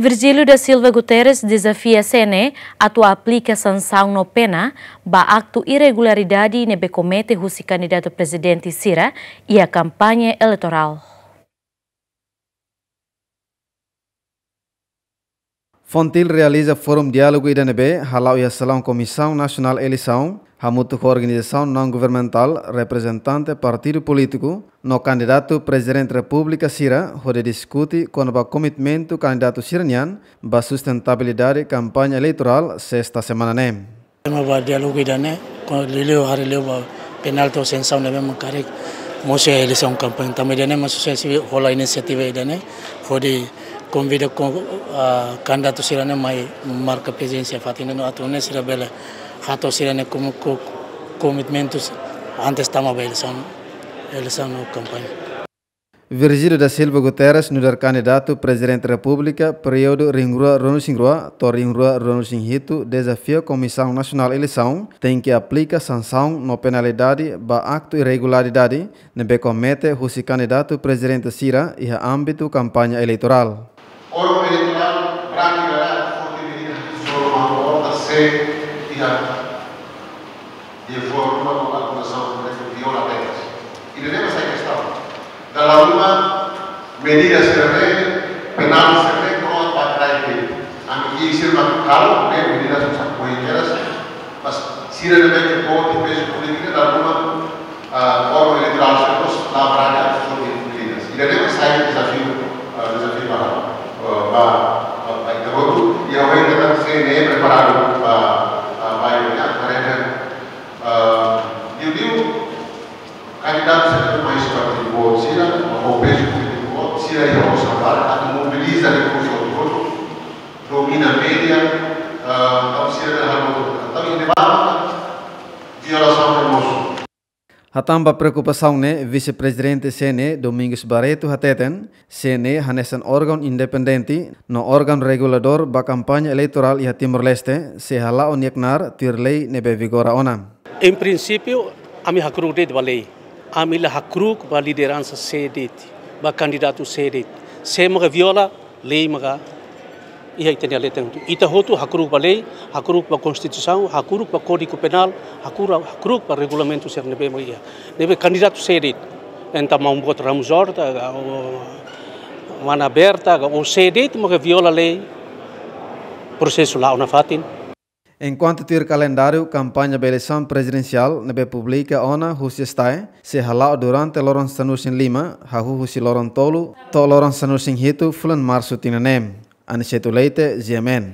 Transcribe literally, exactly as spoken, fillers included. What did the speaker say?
Virgílio da Silva Guterres dezafia C N E atu aplika sansaun no pena ba aktu irregularidade ne'ebé komete husi kandidatu prezidente sira iha kampaña eleitorál. FONGTIL realiza fórum diálogu ida ne'ebé hala'o iha salaun Komisaun Nasionál Eleisaun, hamutuk ho organizasaun naun-governamentál, reprezentante partidu polítiku, no kandidatu Prezidente Repúblika sira, hodi diskute kona-ba komitmentu kandidatu sira-nian ba sustentabilidade kampaña eleitorál sesta semana ne'e. Tema ba diálogu ida-ne'e, kona-ba liuliu haree liu ba penalti ou sansaun ne'ebé mak karik mosu iha eleisaun kampaña. Tanba ida-ne'e mak susesi hola inisiativa ida-ne'e, hodi konvida ko, ah, kandidatu sira-ne'e mai marka prezensa fatin ne'e no atu nune'e sira bele hato'o sira-nia komi-, ko-, komitmentus antes tama ba eleisaun, eleisaun no kampaña. Virgílio da Silva Guterres nu'udar kandidatu Prezidente Repúblika períodu rihun rua ruanulu-resin-rua to'o rihun rua ruanulu-resin-hitu dezafia Komisaun Nasionál Eleisaun tenke aplika sansaun no penalidade ba aktu irregularidade ne'ebé komete husi kandidatu prezidente sira iha ámbitu kampaña eleitorál. Órgaun eleitorál berani garante forte medida de zorma orta se iha de forma ou acusação de viola regras. Ida-ne'e mak sai kestaun. Dala ruma medida sira-ne'e, penál sira-ne'e, kroat ba trai ke. Ami ki'ik sira mak halo, ne'e medida susar koi keras. Mas sira-ne'e ke boot iha pezu polítika, dala ruma, ah, órgaun eleitorál sira mós la berani atu foti medidas. Ida-ne'e mak sai dezafiu, ah, dezafiu ba, ah, ba, ba, ba ita hotu. I ha'u hein katak C N E preparadu ba, ah, ba ida-ne'e, karena, ah, liuliu kandidatu sira mai husi partidu boot sira, ho pezu polítiku boot sira, iha osan barak atu mobiliza rekursu hotu-hotu, domina média, ah, entaun sira-ne'e halo, entaun ida-ne'e mak violasaun ne'e mosu. Hatán ba preokupasaun ne'e, Vise-Prezidente C N E, Domingos Barreto, hateten, C N E hanesan órgaun independente no órgaun reguladór ba kampaña eleitorál iha Timor-Leste, sei hala'o nia knaar tuir lei ne'ebé vigora ona. Em princípio, ami hakruuk de'it ba lei. Ami la hakruuk ba lideransa sé de'it, ba kandidatu sé de'it. Sé maka viola, lei maka iha ita-nia leten. Ita hotu hakruuk ba lei, hakruuk ba konstituisaun, hakruuk ba Kódigu Penál, hakruuk, hakruuk ba regulamentu sira ne'ebé mak iha. Ne'ebé kandidatu sé de'it, entaun maun boot Ramos Horta, ka, ou mana Berta, ka, ou sé de'it maka viola lei, prosesu la'o nafatin. Enkuantu tuir kalendáriu kampaña ba eleisaun prezidensiál ne'ebé publika ona husi STAE, sei hala'o durante loron sanulu-resin-lima, hahú husi loron tolu to'o loron sanulu-resin-hitu fulan Marsu tinan ne'e. Aniceto Leite, G M N.